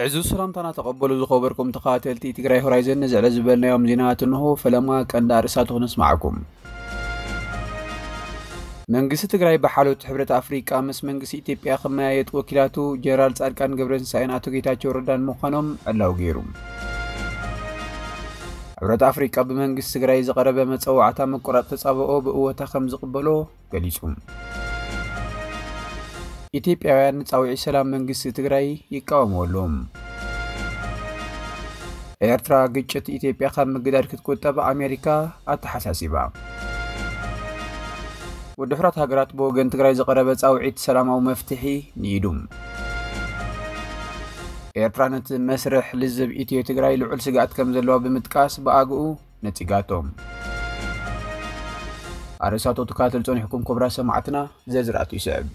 ዕዙዝ ሰላምታና ተቐበሉ ዝኸበርኩም ተኸታተልቲ ትግራይ ሆራይዘን፣ ንዝዕለ ዝበልናዮም ዜናታት እንሆ። ፈለማ ቀንዲ ኣርእስታቱ ክነስማዓኩም። መንግስቲ ትግራይ ብሓለዮት ሕብረት ኣፍሪቃ ምስ መንግስቲ ኢትዮጵያ ክመያየጥ ወኪላቱ ጀነራል ጻድቃን ገብረትንሳኤን ኣቶ ጌታቸው ረዳን ምዃኖም ዕላዊ ገይሩ። ሕብረት ኣፍሪቃ ብመንግስቲ ትግራይ ዝቐረበ መጸዋዕታ ምቁራጽ ተጻብኦ ብእወታ ከም ዝቕበሎ ገሊጹ። ኢትዮጵያውያን ንጻውዒት ሰላም መንግስቲ ትግራይ ይቃወምዎ ኣለዉ። ኤርትራ ግጭት ኢትዮጵያ ካብ ምግዳድ ክትቁጠብ ኣሜሪካ ኣተሓሳሲባ። ውድብ ሕቡራት ሃገራት ብወገን ትግራይ ዝቐረበ ጻውዒት ሰላማዊ መፍትሒ ንኢዱ። ኤርትራ ነቲ መስርሕ ልዝብ ኢትዮ ትግራይ ልዑል ስግኣት ከም ዘለዋ ብምጥቃስ ብኣግኡ ነጺጋቶ። ኣርእስታቱ ትከታተሉ ጸኒሕኩም ክቡራት ሰማዕትና፣ ዝርዝራቱ ይስዕብ።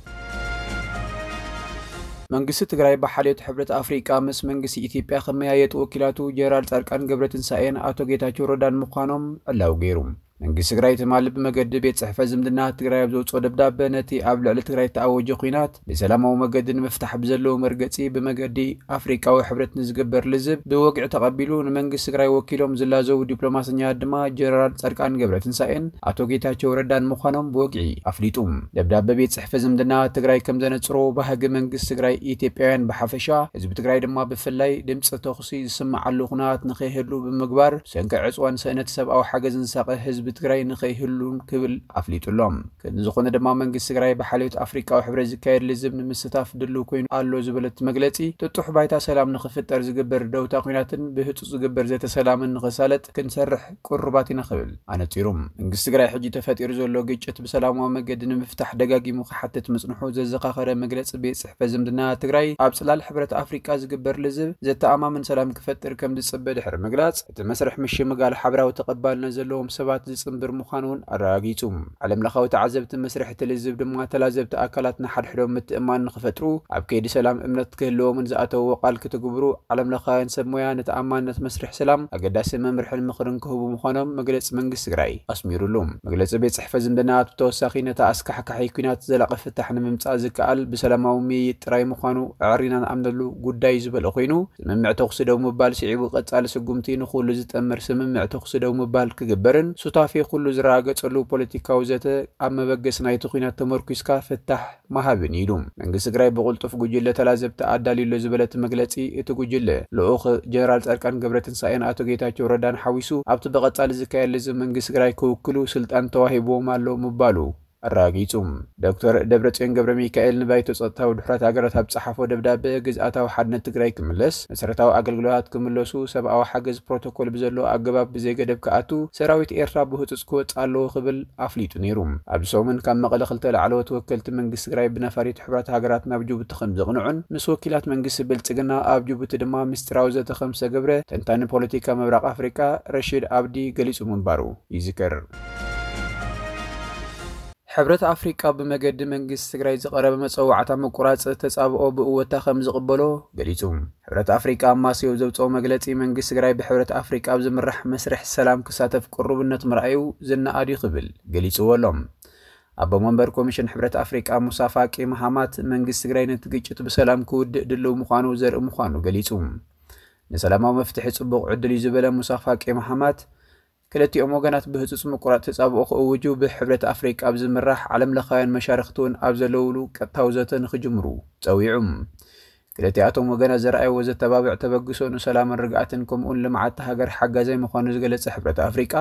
መንግስቲ ትግራይ ብሓልዮት ሕብረት ኣፍሪቃ ምስ መንግስቲ ኢትዮጵያ ክመያየጡ ወኪላቱ ጀነራል ጻድቃን ገብረትንሳኤን ኣቶ ጌታቸው ረዳን ምዃኖም ዕላዊ ገይሩ። መንግስቲ ትግራይ ትማሊ ብመገዲ ቤት ጽሕፈት ዝምድና ትግራይ ኣብ ዘውፅኦ ደብዳበ፣ ነቲ ኣብ ልዕሊ ትግራይ እተኣወጀ ኲናት ብሰላማዊ መገዲ ንምፍታሕ ብዘለዎ መርገጺ ብመገዲ ኣፍሪቃዊ ሕብረት ንዝግበር ልዝብ ብወግዒ ተቐቢሉ፣ ንመንግስቲ ትግራይ ወኪሎም ዝላዘቡ ዲፕሎማሰኛታት ድማ ጀነራል ጻድቃን ገብረትንሳኤን ኣቶ ጌታቸው ረዳን ምዃኖም ብወግዒ ኣፍሊጡ። ደብዳበ ቤት ጽሕፈት ዝምድና ትግራይ ከም ዘነጽሮ፣ ባህጊ መንግስቲ ትግራይ ኢትዮጵያውያን ብሓፈሻ፣ ህዝቢ ትግራይ ድማ ብፍላይ ድምፂ ተኹሲ ዝስምዓሉ ኩነታት ንኸይህሉ ብምግባር፣ ሰንኪ ዕፅዋን ስእነት ሰብኣዊ ሓገዝን ዝሳቐ ህዝቢ ትግራይ ንኸይህሉን ክብል ኣፍሊጡ ኣሎ። ክንዲ ዝኾነ ድማ መንግስቲ ትግራይ ብሓልዮት ኣፍሪቃዊ ሕብረት ዝካየድ ልዝብ ንምስታፍ ድልው ኮይኑ ኣሎ ዝበለት መግለጺ፣ ጥጡሕ ባይታ ሰላም ንኽፍጠር ዝግበር ደውታ ኲናትን ብህጹጽ ዝግበር ዘተ ሰላምን ንኽሳለጥ ክንሰርሕ ቅሩባት ኢና ክብል ኣነጺሩ። መንግስቲ ትግራይ ሕጂ ተፈጢሩ ዘሎ ግጭት ብሰላማዊ መገዲ ንምፍታሕ ደጋጊሙ ክሓትት ምጽንሑ ዘዘኻኸረ መግለጺ ቤት ጽሕፈት ዝምድና ትግራይ፣ ኣብ ጽላል ሕብረት ኣፍሪቃ ዝግበር ልዝብ ዘተኣማምን ሰላም ክፈጥር ከም ዝጽበ ድሕሪ ምግላጽ፣ እቲ መስርሕ ምሽምጋል ሓበራዊ ተቐባልነት ዘለዎም ሰባት ዝጽንብር ምዃኑ እውን ኣረጋጊጹ። ዓለም ለኻዊ ተዓዘብቲ መስርሕ እቲ ልዝብ ድማ ተላዘብቲ ኣካላት ንሓድሕዶም ምትእምማን ንኽፈጥሩ፣ ኣብ ከይዲ ሰላም እምነት ክህልዎምን ዝኣተውዎ ቃል ክትግብሩ ዓለም ለኻውያን ሰብ ሞያ ንተኣማንነት መስርሕ ሰላም ኣገዳሲ መምርሕን ምኽርን ክህቡ ምዃኖም መግለጺ መንግስቲ ትግራይ ኣስሚሩሉ። መግለጺ ቤት ጽሕፈት ዝምድና ብተወሳኺ ነታ ኣስካሕካሒ ኲናት ዘላቒ ፍታሕ ንምምጻእ ዝከኣል ብሰላማዊ ምይይጥ ጥራይ ምዃኑ ኣዕሪና ንኣምነሉ ጉዳይ እዩ ዝበለ ኮይኑ፣ ስምምዕ ተኹሲ ደው ምባል ስዒቡ ቀጻሊ ስጉምቲ ንኹሉ ዝጠምር ስምምዕ ተኹሲ ደው ምባል ክግበርን ሱታፌ ኩሉ ዝረጋገጸሉ ፖለቲካዊ ዘተ ኣብ መበገሲ ናይቲ ኲናት ተመርኲስካ ፍታሕ ምሃብን ኢሉ። መንግስቲ ትግራይ ብቕልጡፍ ጉጅለ ተላዘብቲ ኣዳልዩ ኣሎ ዝበለ እቲ መግለጺ፣ እቲ ጉጅለ ልኡኽ ጀነራል ጻድቃን ገብረትንሳኤን ኣቶ ጌታቸው ረዳን ሓዊሱ ኣብቲ ብቐጻሊ ዝካየድ ልዝብ መንግስቲ ትግራይ ክውክሉ ስልጣን ተዋሂብዎም ኣሎ ምባሉ ኣረጋጊጹ። ዶክተር ደብረጽዮን ገብረ ሚካኤል ንባይቶ ጸጥታ ውድብ ሕቡራት ሃገራት ኣብ ጸሓፎ ደብዳበ፣ ግዝኣታዊ ሓድነት ትግራይ ክምለስ፣ መሰረታዊ ኣገልግሎታት ክምለሱ፣ ሰብኣዊ ሓገዝ ፕሮቶኮል ብዘለዎ ኣገባብ ብዘይገደብ ክኣቱ፣ ሰራዊት ኤርትራ ብህጹጽ ክወጽእ ኣለዎ ክብል ኣፍሊጡ ነይሩ። ኣብዚ ሰሙን ካብ መቐለ ክልተ ላዕለዎት ወከልቲ መንግስቲ ትግራይ ብነፋሪት ሕቡራት ሃገራት ናብ ጅቡቲ ከም ዘቕንዑን ምስ ወኪላት መንግስቲ ብልጽግና ኣብ ጅቡቲ ድማ ምስጢራዊ ዘተ ከም ዝተገብረ ተንታኒ ፖለቲካ ምብራቕ ኣፍሪቃ ረሺድ ኣብዲ ገሊጹ ምንባሩ ይዝከር። ሕብረት ኣፍሪቃ ብመገዲ መንግስቲ ትግራይ ዝቐረበ መጸዋዕታ ምቁራጽ ተጻብኦ ብእወታ ከም ዝቕበሎ ገሊጹ። ሕብረት ኣፍሪቃ ኣብ ማስዮ ዘውጽኦ መግለጺ፣ መንግስቲ ትግራይ ብሕብረት ኣፍሪቃ ኣብ ዝምራሕ መስርሕ ሰላም ክሳተፍ ቅሩብነት ምርኣዩ ዝነኣድ እዩ ክብል ገሊጽዎ ኣሎ። ኣቦ መንበር ኮሚሽን ሕብረት ኣፍሪቃ ሙሳ ፋቂ መሃማት፣ መንግስቲ ትግራይ ነቲ ግጭት ብሰላም ክውድእ ድልው ምዃኑ ዘርኢ ምዃኑ ገሊጹ። ንሰላማዊ መፍትሒ ጽቡቕ ዕድል እዩ ዝበለ ሙሳ ፋቂ መሃማት፣ ክልቲኦም ወገናት ብህጹጽ ምቁራጽ ተጻብኦ ክእውጁ፣ ብሕብረት ኣፍሪቃ ኣብ ዝምራሕ ዓለም ለኻውያን መሻርኽቲ እውን ኣብ ዘለውሉ ቀጥታዊ ዘተ ንኽጅምሩ ጸዊዑ። ክልቲኣቶም ወገናት ዘርኣይዎ ዘተባብዕ ተበግሶ ንሰላምን ርግኣትን ከምኡውን ልምዓት ሃገር ሓጋዛይ ምዃኑ ዝገለጸ ሕብረት ኣፍሪቃ፣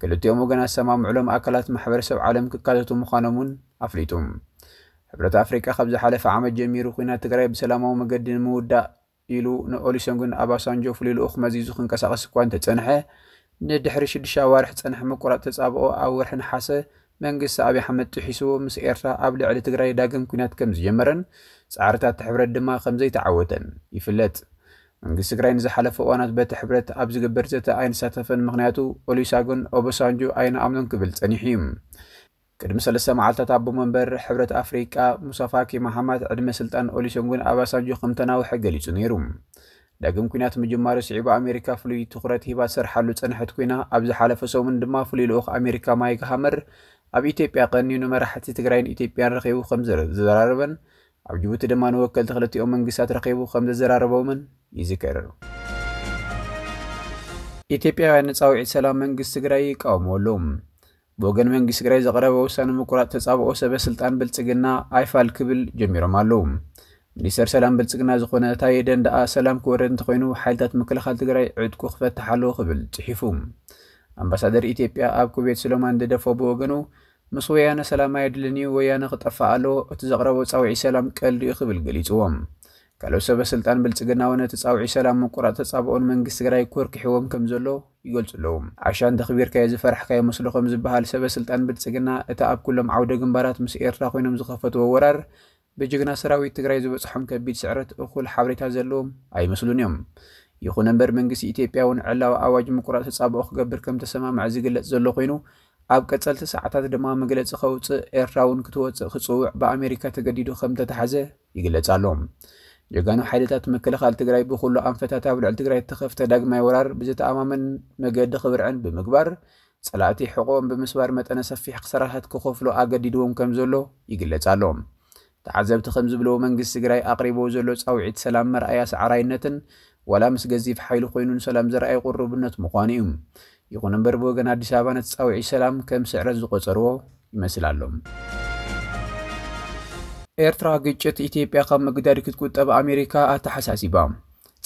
ክልቲኦም ወገናት ዝሰማምዕሎም ኣካላት ማሕበረሰብ ዓለም ክካተቱ ምዃኖም እውን ኣፍሊጡ። ሕብረት ኣፍሪቃ ካብ ዝሓለፈ ዓመት ጀሚሩ ኲናት ትግራይ ብሰላማዊ መገዲ ንምውዳእ ኢሉ ንኦሉሰጉን ኣባሳንጆ ፍሉይ ልኡኽ መዚዙ ክንቀሳቐስ እኳ እንተጸንሐ፣ ንድሕሪ ሽዱሽተ ኣዋርሕ ዝጸንሐ ምቁራጽ ተጻብኦ ኣብ ወርሒ ነሓሰ መንግስቲ ኣብይ ኣሕመድ ጥሒስዎ ምስ ኤርትራ ኣብ ልዕሊ ትግራይ ዳግም ኲናት ከም ዝጀመረን ጻዕርታት እቲ ሕብረት ድማ ከም ዘይተዓወተን ይፍለጥ። መንግስቲ ትግራይ ንዝሓለፈ እዋናት በቲ ሕብረት ኣብ ዝግበር ዘተ ኣይንሳተፈን፣ ምኽንያቱ ኦሉሰጉን ኦባሳንጆ ኣይንኣምኖን ክብል ጸኒሑ እዩ። ቅድሚ ሰለስተ መዓልታት ኣቦ መንበር ሕብረት ኣፍሪቃ ሙሳ ፋኪ መሓማት ዕድመ ስልጣን ኦሉሰጉን ኣባሳንጆ ከም ተናውሐ ገሊጹ ነይሩ። ዳግም ኲናት ምጅማሩ ስዒቡ ኣሜሪካ ፍሉይ ትኹረት ሂባ ትሰርሓሉ ዝጸንሐት ኮይና፣ ኣብ ዝሓለፈ ሰሙን ድማ ፍሉይ ልኡኽ ኣሜሪካ ማይክ ሃመር ኣብ ኢትዮጵያ ቀንዩ ንመራሕቲ ትግራይን ኢትዮጵያን ረኺቡ ከም ዘረ-፣ ዘዘራረበን ኣብ ጅቡቲ ድማ ንወከልቲ ክልቲኦም መንግስታት ረኺቡ ከም ዘዘራረቦምን ይዝከር። ኢትዮጵያውያን ንጻውዒት ሰላም መንግስቲ ትግራይ ይቃወሙ ኣለዉ። ብወገን መንግስቲ ትግራይ ዝቐረበ ውሳነ ምቁራፅ ተጻብኦ ሰበ ስልጣን ብልጽግና ኣይፋል ክብል ጀሚሮም ኣለዉ። ሚኒስተር ሰላም ብልጽግና ዝኾነ ታየ ደንደኣ ሰላም ክወርድ እንተኾይኑ ሓይልታት ምክልኻል ትግራይ ዕጥቁ ክፈትሕ ኣለዎ ክብል ጽሒፉ። ኣምባሳደር ኢትዮጵያ ኣብ ኩዌት ሱሌማን ደደፎ ብወገኑ ምስ ወያነ ሰላም ኣየድልን እዩ፣ ወያነ ክጠፍእ ኣለዎ፣ እቲ ዘቕረቦ ጻውዒት ሰላም ቀልዲ እዩ ክብል ገሊጽዎ። ካልኦት ሰበ ስልጣን ብልጽግና እውን እቲ ጻውዒት ሰላም ምቁራፅ ተጻብኦን መንግስቲ ትግራይ ኮርኪሕዎም ከም ዘሎ ይገልጹ ኣለዉ። ዓሻ እንተኽቢርካዮ ዝፈራሕካዮ መስሎ ከም ዝበሃል ሰበ ስልጣን ብልጽግና እቲ ኣብ ኩሎም ዓውደ ግንባራት ምስ ኤርትራ ኮይኖም ዝኸፈትዎ ወራር ብጅግና ሰራዊት ትግራይ ዝበጽሖም ከቢድ ስዕረት እኹል ሓበሬታ ዘለዎም ኣይመስሉን እዮም። ይኹን እምበር መንግስቲ ኢትዮጵያ እውን ዕላዊ ኣዋጅ ምቁራፅ ተጻብኦ ክገብር ከም ተሰማምዐ ዝግለጽ ዘሎ ኮይኑ ኣብ ቀጸልቲ ሰዓታት ድማ መግለጺ ከውጽእ ኤርትራ እውን ክትወጽእ ክጽውዕ ብኣሜሪካ ተገዲዱ ከም ተታሕዘ ይግለጽ ኣሎ። ጀጋኑ ሓይልታት ምክልኻል ትግራይ ብኹሉ ኣንፈታት ኣብ ልዕሊ ትግራይ እተኸፍተ ዳግማይ ወራር ብዝተኣማመን መገዲ ክብርዕን ብምግባር ጸላእቲ ሕቖኦም ብምስባር መጠነ ሰፊሕ ክሳራታት ክኸፍሉ ኣገዲድዎም ከም ዘሎ ይግለጽ ኣሎ። ተዓዘብቲ ከም ዝብልዎ መንግስቲ ትግራይ ኣቕሪብዎ ዘሎ ጻውዒት ሰላም መርኣያ ሰዓራይነትን ዋላ ምስ ገዚፍ ሓይሊ ኮይኑ ንሰላም ዘርኣየ ቁርብነት ምዃኑ እዩ። ይኹን እምበር ብወገን ኣዲስ ኣበባ ነቲ ጻውዒት ሰላም ከም ስዕረት ዝቖጸርዎ ይመስል ኣሎ። ኤርትራ ግጭት ኢትዮጵያ ካብ ምግዳድ ክትቁጠብ ኣሜሪካ ኣተሓሳሲባ።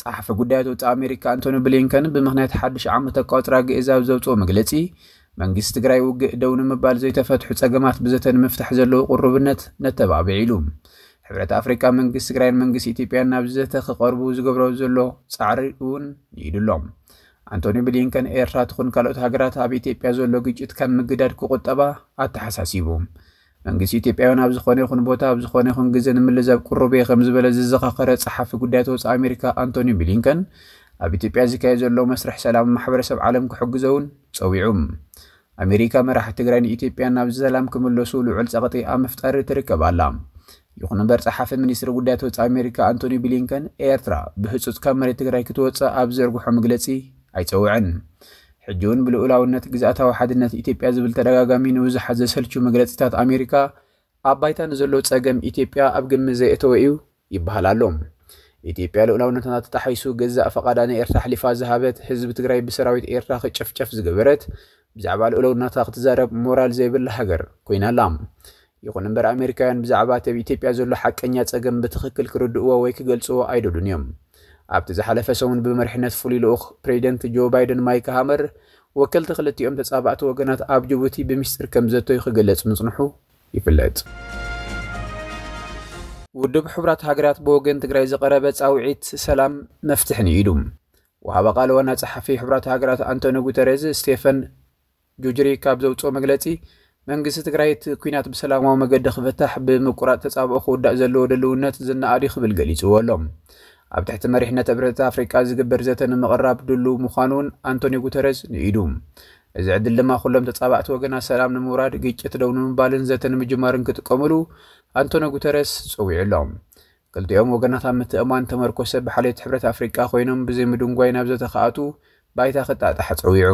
ጸሓፊ ጉዳያት ወጻኢ ኣሜሪካ ኣንቶኒ ብሊንከን ብምኽንያት ሓድሽ ዓመት ኣቋጽራ ግእዝ ኣብ ዘውጽኦ መግለጺ መንግስቲ ትግራይ ውግእ ደው ንምባል ዘይተፈትሑ ጸገማት ብዘተ ንምፍታሕ ዘለዎ ቁርብነት ነተባብዕ ኢሉ። ሕብረት ኣፍሪካ መንግስቲ ትግራይን መንግስቲ ኢትዮጵያን ናብ ዘተ ክቐርቡ ዝገብሮ ዘሎ ጻዕሪ እውን ንኢዱ ኣሎ። ኣንቶኒ ብሊንከን ኤርትራ ትኹን ካልኦት ሃገራት ኣብ ኢትዮጵያ ዘሎ ግጭት ካብ ምግዳድ ክቁጠባ ኣተሓሳሲቡ። መንግስቲ ኢትዮጵያ እውን ኣብ ዝኾነ ይኹን ቦታ ኣብ ዝኾነ ይኹን ግዜ ንምልዛብ ቅሩብ እየ ከም ዝበለ ዝዘኻኸረ ጸሓፊ ጉዳያት ወጻኢ ኣሜሪካ ኣንቶኒ ብሊንከን ኣብ ኢትዮጵያ ዝካየድ ዘሎ መስርሕ ሰላም ማሕበረሰብ ዓለም ክሕግዞ እውን ጸዊዑ። ኣሜሪካ መራሕቲ ትግራይ ንኢትዮጵያ ናብ ሰላም ክምለሱ ልዑል ጸቕጢ ኣብ ምፍጣር ትርከብ ኣላ። ይኹን እምበር ጸሓፊ ሚኒስትሪ ጉዳያት ወጻኢ ኣሜሪካ ኣንቶኒ ብሊንከን ኤርትራ ብህጹጽ ካብ መሬት ትግራይ ክትወጽእ ኣብ ዘርግሖ መግለጺ ኣይጸውዐን። ሕጂ እውን ብልኡላውነት ግዝኣታዊ ሓድነት ኢትዮጵያ ዝብል ተደጋጋሚ ንብዙሓት ዘሰልቹ መግለጺታት ኣሜሪካ ኣብ ባይታ ንዘሎ ጸገም ኢትዮጵያ ኣብ ግምት ዘየእተወ እዩ ይበሃል ኣሎ። ኢትዮጵያ ልኡላውነትና ተጣሒሱ ገዛእ ፈቓዳ ንኤርትራ ኣሕሊፋ ዝሃበት፣ ህዝቢ ትግራይ ብሰራዊት ኤርትራ ክጭፍጨፍ ዝገበረት፣ ብዛዕባ ልኡላውነታ ክትዛረብ ሞራል ዘይብላ ሃገር ኮይና ኣላ። ይኹን እምበር ኣሜሪካውያን ብዛዕባ እቲ ኣብ ኢትዮጵያ ዘሎ ሓቀኛ ጸገም ብትኽክል ክርድእዎ ወይ ክገልጽዎ ኣይደሉን እዮም። ኣብቲ ዝሓለፈ ሰሙን ብመሪሕነት ፍሉይ ልኡኽ ፕሬዚደንት ጆ ባይደን ማይክ ሃመር ወከልቲ ክልቲኦም ተጻባእቲ ወገናት ኣብ ጅቡቲ ብምስጢር ከም ዘተዩ ክገለጽ ምጽንሑ ይፍለጥ። ውድብ ሕቡራት ሃገራት ብወገን ትግራይ ዝቐረበ ጻውዒት ሰላም መፍትሒ ንኢዱ። ወሃቢ ቃል ዋና ጸሓፊ ሕቡራት ሃገራት ኣንቶኒ ጉተሬዝ ስቴፈን ጁጅሪክ ኣብ ዘውፅኦ መግለፂ መንግስቲ ትግራይ እቲ ኲናት ብሰላማዊ መገዲ ክፍታሕ ብምቁራፅ ተፃብኦ ክውዳእ ዘለዎ ድልውነት ዝነኣድ እዩ ክብል ገሊፅዎ ኣሎ። ኣብ ትሕቲ መሪሕነት ሕብረት ኣፍሪቃ ዝግበር ዘተ ንምቕራብ ድሉው ምዃኑ እውን ኣንቶኒ ጉተረዝ ንኢዱ። እዚ ዕድል ድማ ኩሎም ተፃባእቲ ወገናት ሰላም ንምውራድ፣ ግጭት ደው ንምባልን ዘተ ንምጅማርን ክጥቀምሉ ኣንቶኒ ጉተረስ ፀዊዑ ኣሎ። ክልቲኦም ወገናት ኣብ ምትእምማን ተመርኮሰ ብሓልዮት ሕብረት ኣፍሪቃ ኮይኖም ብዘይ ምድንጓይ ናብ ዘተ ክኣትዉ ባይታ ክጣጣሕ ፀዊዑ።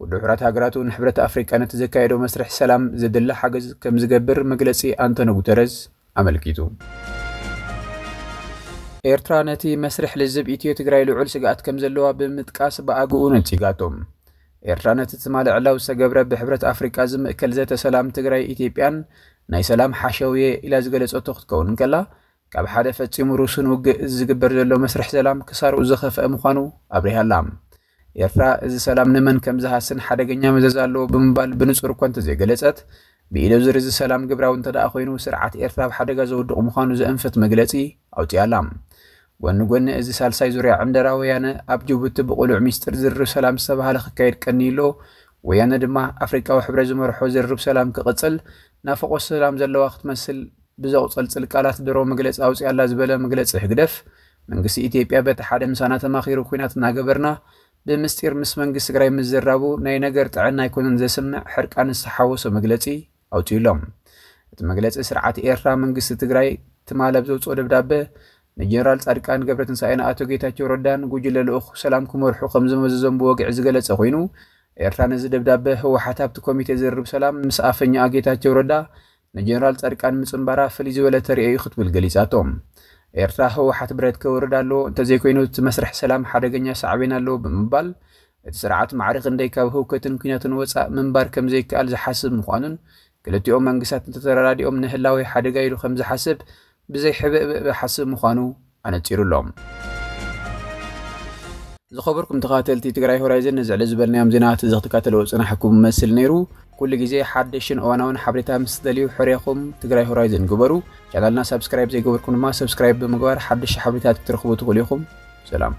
ውድብ ሕቡራት ሃገራት እውን ሕብረት ኣፍሪቃ ነቲ ዘካየዶ መስርሕ ሰላም ዘድሊ ሓገዝ ከም ዝገብር መግለፂ ኣንቶኒ ጉተረዝ ኣመልኪቱ። ኤርትራ ነቲ መስርሕ ልዝብ ኢትዮ ትግራይ ልዑል ስግኣት ከም ዘለዋ ብምጥቃስ ብኣግኡ ነጺጋቶ። ኤርትራ ነቲ ትማሊ ዕላዊ ዝተገብረ ብሕብረት ኣፍሪቃ ዝምእከል ዘተ ሰላም ትግራይ ኢትዮጵያን ናይ ሰላም ሓሸውየ ኢላ ዝገለጸቶ ክትከውን እንከላ፣ ካብ ሓደ ፈጺሙ ርሱን ውግእ ዝግበር ዘሎ መስርሕ ሰላም ክሳርኡ ዝኸፍአ ምዃኑ ኣብሪሃ ኣላ። ኤርትራ እዚ ሰላም ንመን ከም ዝሃስን ሓደገኛ መዘዝ ኣለዎ ብምባል ብንጹር እኳ እንተዘይገለጸት፣ ብኢደዝር እዚ ሰላም ግብራዊ እንተደኣ ኮይኑ ስርዓት ኤርትራ ኣብ ሓደጋ ዘውድቕ ምዃኑ ዘእንፍት መግለጺ ኣውጺኣ ኣላ። ጎኒ ጎኒ እዚ ሳልሳይ ዙርያ ዕንደራ ወያነ ኣብ ጅቡቲ ብቕሉዕ ሚስጥር ዝርርብ ሰላም ዝተባህለ ክካየድ ቀንዩ ኣሎ። ወያነ ድማ ኣፍሪቃዊ ሕብረት ዝመርሖ ዝርርብ ሰላም ክቕጽል ናፍቖት ሰላም ዘለዋ ክትመስል ብዘቑጸልጽል ቃላት ድሮ መግለጺ ኣውጺኣ ኣላ ዝበለ መግለጺ ህግደፍ፣ መንግስቲ ኢትዮጵያ በቲ ሓደ ምሳና ተማኺሩ ኲናት እናገበርና ብምስጢር ምስ መንግስቲ ትግራይ ምዝራቡ ናይ ነገር ጥዕና ኣይኮነን ዘስምዕ ሕርቃን ዝተሓወሶ መግለጺ ኣውጺኡ ኣሎ። እቲ መግለጺ ስርዓት ኤርትራ መንግስቲ ትግራይ ትማሊ ኣብ ዘውጽኦ ደብዳበ ንጀነራል ጻድቃን ገብረትንሳኤን ኣቶ ጌታቸው ረዳን ጉጅለ ልኡኽ ሰላም ክመርሑ ከም ዝመዘዞም ብወግዒ ዝገለጸ ኮይኑ፣ ኤርትራ ነዚ ደብዳበ ህወሓት ኣብቲ ኮሚቴ ዝርርብ ሰላም ምስ ኣፈኛኣ ጌታቸው ረዳ ንጀነራል ፃድቃን ምፅንባራ ፍልይ ዝበለ ተርእዮ እዩ ክትብል ገሊፃቶ። ኤርትራ ህወሓት ብረት ከውርድ ኣለዎ፣ እንተዘይኮይኑ እቲ መስርሕ ሰላም ሓደገኛ ሳዕቤን ኣለዎ ብምባል እቲ ስርዓት ማዕረ ክንደይ ካብ ህውከትን ኩናትን ወፃእ ምንባር ከም ዘይከኣል ዝሓስብ ምዃኑን ክልቲኦም መንግስታት እንተተረዳዲኦም ንህላዌ ሓደጋ ኢሉ ከም ዝሓስብ ብዘይ ሕብእብእ ዝሓስብ ምዃኑ ኣነፂሩ ኣሎ። ዝኸበርኩም ተኸታተልቲ ትግራይ ሆራይዘን፣ ነዚ ዕለት ዝበልናዮም ዜናታት እዚ ክትከታተልዎ ዝጸናሕኩም መስል ነይሩ። ኩሉ ግዜ ሓደሽን እዋናውን ሓበሬታ ምስ ትደልዩ ሕርያኹም ትግራይ ሆራይዘን ግበሩ። ቻናልና ሳብስክራይብ ዘይገበርኩም ድማ ሰብስክራይብ ብምግባር ሓደሽቲ ሓበሬታት ክትረኽቡ ትኽእሉ ኢኹም። ሰላም።